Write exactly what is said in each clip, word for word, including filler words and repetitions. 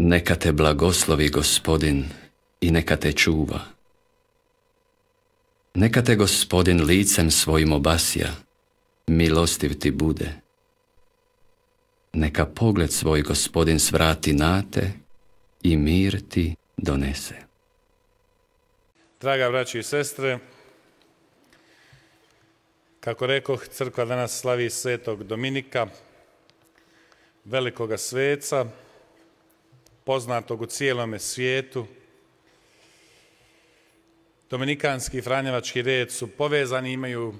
Neka te blagoslovi Gospodin i neka te čuva. Neka te Gospodin licem svojim obasja, milostiv ti bude. Neka pogled svoj Gospodin svrati na te i mir ti donese. Draga braći i sestre, kako rekoh, crkva danas slavi svetog Dominika, velikoga sveca, poznatog u cijelome svijetu. Dominikanski i franjevački red su povezani, imaju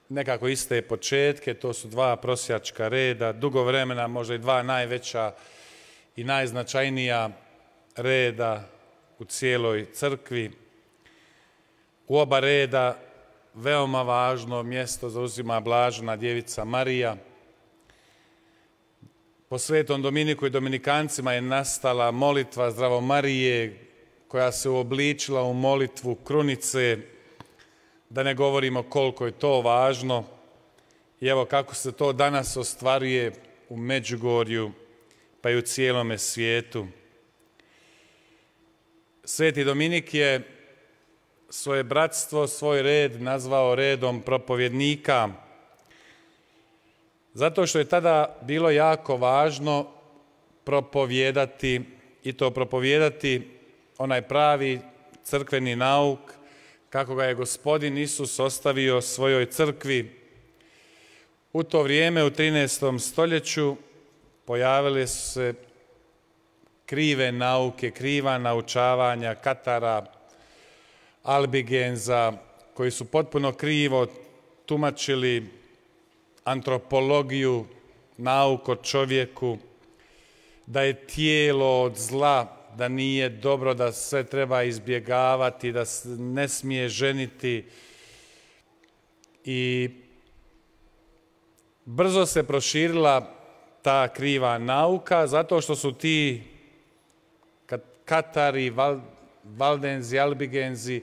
nekako iste početke, to su dva prosjačka reda, dugo vremena, možda i dva najveća i najznačajnija reda u cijeloj crkvi. U oba reda veoma važno mjesto zauzima Blažena djevica Marija. Po svetom Dominiku i Dominikancima je nastala molitva Zdravo Marije, koja se uobličila u molitvu krunice, da ne govorimo koliko je to važno. I evo kako se to danas ostvaruje u Međugorju, pa i u cijelome svijetu. Sveti Dominik je svoje bratstvo, svoj red nazvao redom propovjednika, zato što je tada bilo jako važno propovijedati, i to propovijedati onaj pravi crkveni nauk, kako ga je Gospodin Isus ostavio svojoj crkvi. U to vrijeme, u trinaestom stoljeću, pojavile su se krive nauke, kriva naučavanja Katara, Albigenza, koji su potpuno krivo tumačili antropologiju, nauku o čovjeku, da je tijelo od zla, da nije dobro, da sve treba izbjegavati, da se ne smije ženiti. I brzo se proširila ta kriva nauka, zato što su ti Katari, Valdenzi, Albigenzi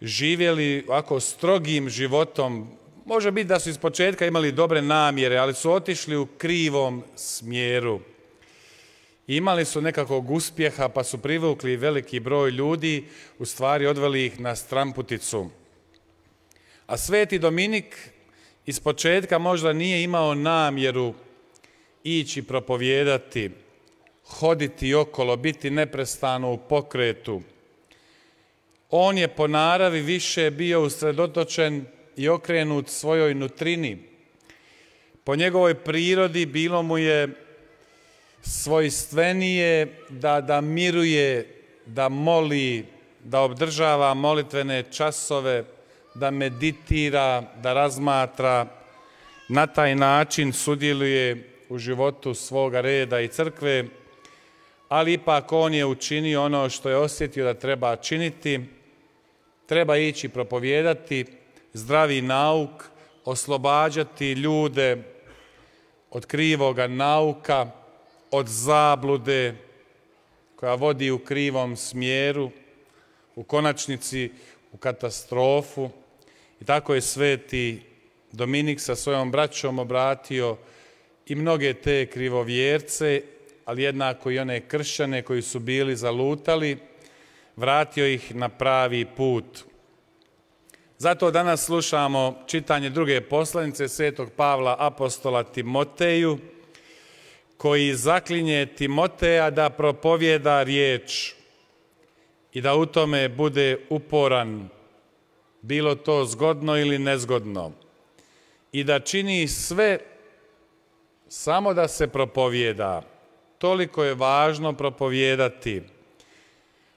živjeli ovako strogim životom. Može biti da su iz početka imali dobre namjere, ali su otišli u krivom smjeru. Imali su nekakvog uspjeha, pa su privukli veliki broj ljudi, u stvari odveli ih na stramputicu. A sveti Dominik iz početka možda nije imao namjeru ići propovijedati, hoditi okolo, biti neprestano u pokretu. On je po naravi više bio usredotočen i okrenut svojoj nutrini. Po njegovoj prirodi bilo mu je svojstvenije da, da miruje, da moli, da obdržava molitvene časove, da meditira, da razmatra. Na taj način sudjeluje u životu svoga reda i crkve, ali ipak on je učinio ono što je osjetio da treba činiti. Treba ići propovijedati zdravi nauk, oslobađati ljude od krivoga nauka, od zablude koja vodi u krivom smjeru, u konačnici u katastrofu. I tako je sveti Dominik sa svojom braćom obratio i mnoge te krivovjerce, ali jednako i one kršćane koji su bili zalutali, vratio ih na pravi put. Zato danas slušamo čitanje druge poslanice svetog Pavla apostola Timoteju, koji zaklinje Timoteja da propovijeda riječ i da u tome bude uporan, bilo to zgodno ili nezgodno, i da čini sve samo da se propovijeda. Toliko je važno propovijedati.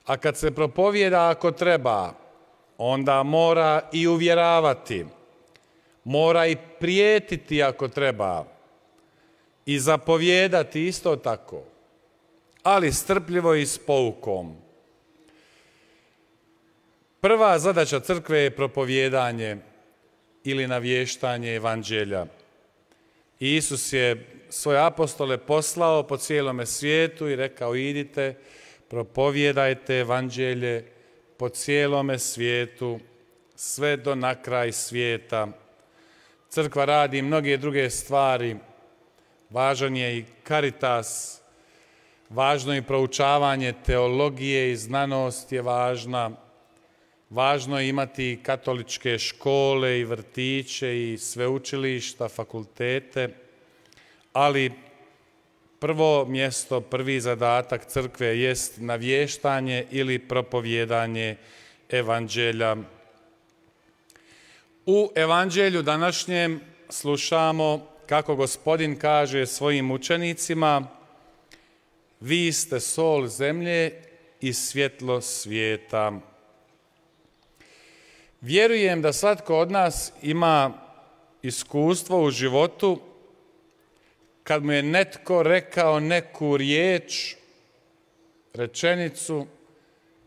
A kad se propovijeda ako treba, onda mora i uvjeravati, mora i prijetiti ako treba, i zapovijedati isto tako, ali strpljivo i s poukom. Prva zadaća crkve je propovijedanje ili navještanje evanđelja. I Isus je svoje apostole poslao po cijelome svijetu i rekao: idite, propovijedajte evanđelje po cijelome svijetu, sve do na kraj svijeta. Crkva radi mnoge druge stvari. Važan je i Caritas, Važno je i proučavanje teologije i znanost je važna. Važno je imati katoličke škole i vrtiće i sveučilišta, fakultete, ali prvo mjesto, prvi zadatak crkve jest navještanje ili propovjedanje evanđelja. U evanđelju današnjem slušamo kako Gospodin kaže svojim učenicima: vi ste sol zemlje i svjetlo svijeta. Vjerujem da svatko od nas ima iskustvo u životu kad mu je netko rekao neku riječ, rečenicu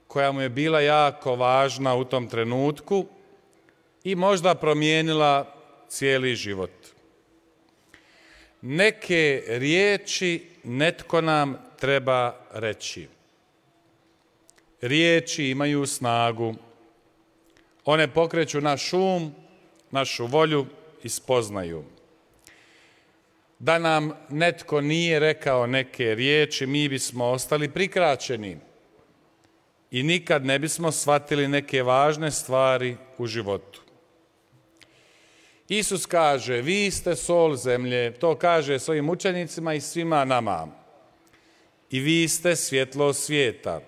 koja mu je bila jako važna u tom trenutku i možda promijenila cijeli život. Neke riječi netko nam treba reći. Riječi imaju snagu. One pokreću naš um, našu volju i spoznaju. Da nam netko nije rekao neke riječi, mi bismo ostali prikraćeni i nikad ne bismo shvatili neke važne stvari u životu. Isus kaže: vi ste sol zemlje, to kaže svojim učenicima i svima nama. I vi ste svjetlo svijeta.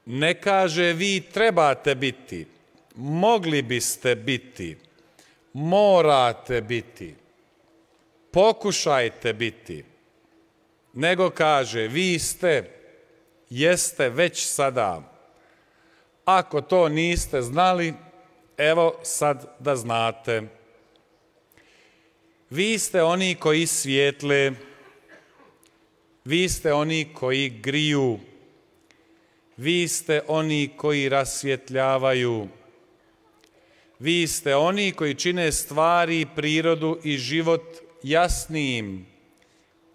Ne kaže vi trebate biti, mogli biste biti, morate biti, pokušajte biti, nego kaže vi ste, jeste već sada. Ako to niste znali, evo sad da znate. Vi ste oni koji svijetle, vi ste oni koji griju, vi ste oni koji rasvjetljavaju, vi ste oni koji čine stvari, prirodu i život jasnijim,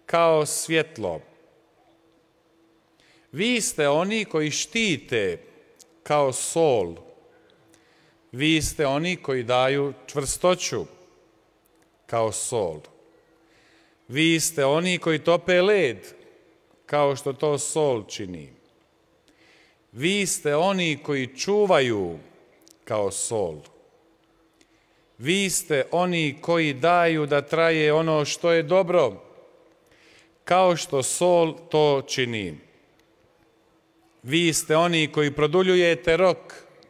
kao svjetlo. Vi ste oni koji štite, kao sol. Vi ste oni koji daju čvrstoću, kao sol. Vi ste oni koji tope led, kao što to sol čini. Vi ste oni koji čuvaju, kao sol. Vi ste oni koji daju da traje ono što je dobro, kao što sol to čini. Vi ste oni koji produljujete rok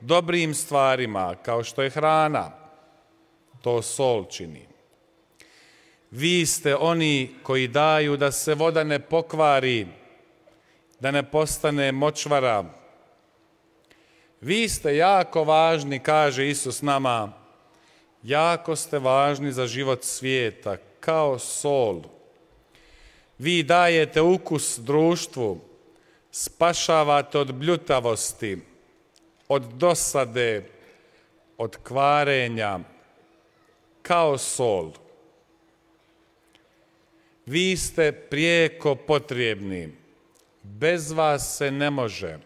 dobrim stvarima, kao što je hrana, to sol čini. Vi ste oni koji daju da se voda ne pokvari, da ne postane močvara. Vi ste jako važni, kaže Isus nama, jako ste važni za život svijeta, kao sol. Vi dajete ukus društvu, spašavate od bljutavosti, od dosade, od kvarenja, kao sol. Vi ste prijeko potrebni, bez vas se ne može,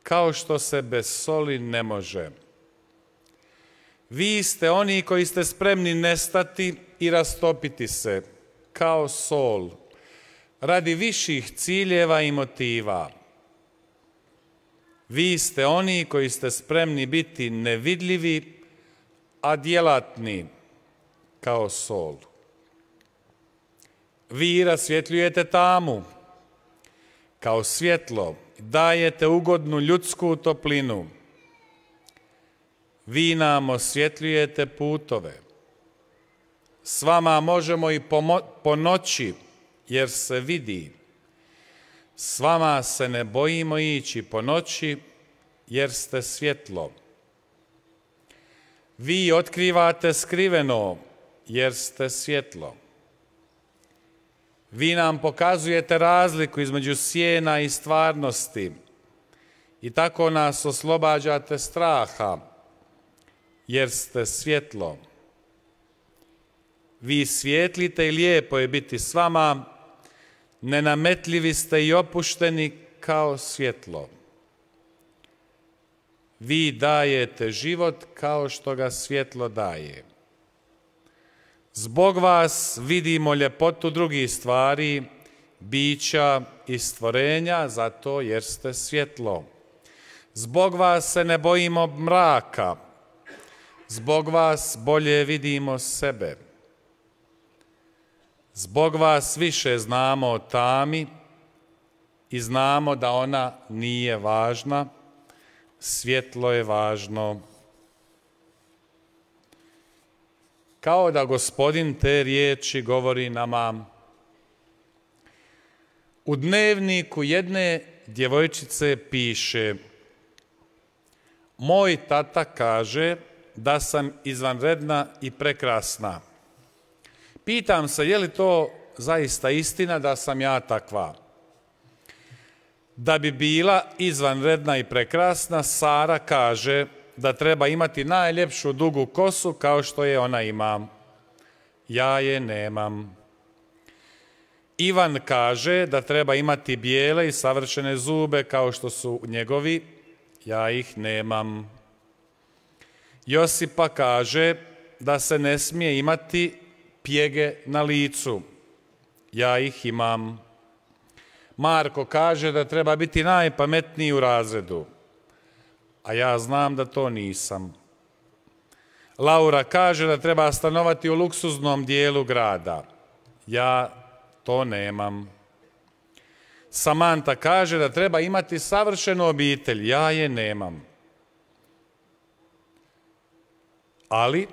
kao što se bez soli ne može. Vi ste oni koji ste spremni nestati i rastopiti se, kao sol, radi viših ciljeva i motiva. Vi ste oni koji ste spremni biti nevidljivi, a djelatni, kao sol. Vi rasvjetljujete tamu, kao svjetlo, dajete ugodnu ljudsku toplinu. Vi nam osvjetljujete putove. S vama možemo i po noći, jer se vidi. S vama se ne bojimo ići po noći, jer ste svjetlo. Vi otkrivate skriveno, jer ste svjetlo. Vi nam pokazujete razliku između sjena i stvarnosti i tako nas oslobađate straha, jer ste svjetlo. Vi svijetlite i lijepo je biti s vama, nenametljivi ste i opušteni kao svjetlo. Vi dajete život kao što ga svjetlo daje. Zbog vas vidimo ljepotu drugih stvari bića i stvorenja, zato jer ste svjetlo. Zbog vas se ne bojimo mraka, zbog vas bolje vidimo sebe. Zbog vas više znamo o tami i znamo da ona nije važna, svjetlo je važno. Kao da Gospodin te riječi govori nama. U dnevniku jedne djevojčice piše: moj tata kaže da sam izvanredna i prekrasna. Pitam se, je li to zaista istina da sam ja takva? Da bi bila izvanredna i prekrasna, Sara kaže da treba imati najljepšu dugu kosu kao što je ona ima. Ja je nemam. Ivan kaže da treba imati bijele i savršene zube kao što su njegovi. Ja ih nemam. Josipa kaže da se ne smije imati pjege na licu. Ja ih imam. Marko kaže da treba biti najpametniji u razredu, a ja znam da to nisam. Laura kaže da treba stanovati u luksuznom dijelu grada. Ja to nemam. Samanta kaže da treba imati savršenu obitelj. Ja je nemam. Ali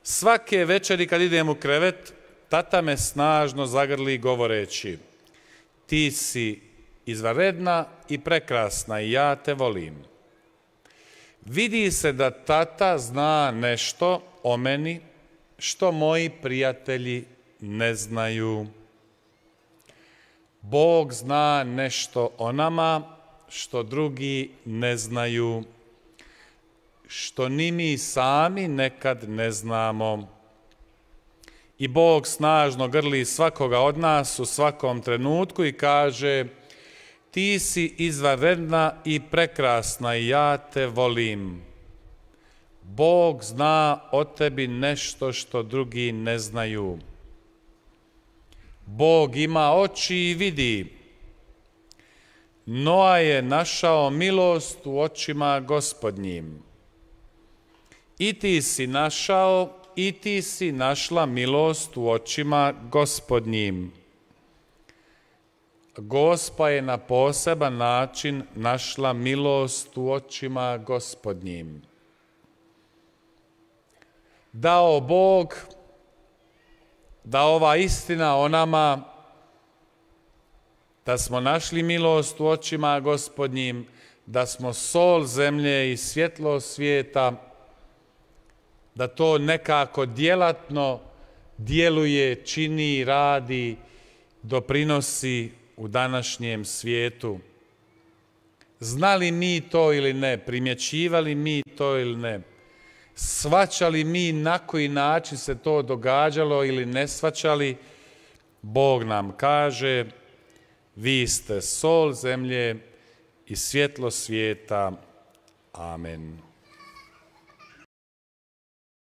svake večeri kad idem u krevet, tata me snažno zagrli govoreći: ti si izvanredna i prekrasna i ja te volim. Vidi se da tata zna nešto o meni što moji prijatelji ne znaju. Bog zna nešto o nama što drugi ne znaju, što ni mi sami nekad ne znamo. I Bog snažno grli svakoga od nas u svakom trenutku i kaže: ti si izvanredna i prekrasna i ja te volim. Bog zna o tebi nešto što drugi ne znaju. Bog ima oči i vidi. Noa je našao milost u očima Gospodnjim. I ti si našao i ti si našla milost u očima Gospodnjim. Gospa je na poseban način našla milost u očima Gospodnjim. Dao Bog da ova istina o nama, da smo našli milost u očima Gospodnjim, da smo sol zemlje i svjetlo svijeta, da to nekako djelatno djeluje, čini, radi, doprinosi u današnjem svijetu. Znali mi to ili ne, primjećivali mi to ili ne, shvaćali mi na koji način se to događalo ili ne shvaćali, Bog nam kaže: vi ste sol zemlje i svjetlo svijeta. Amen.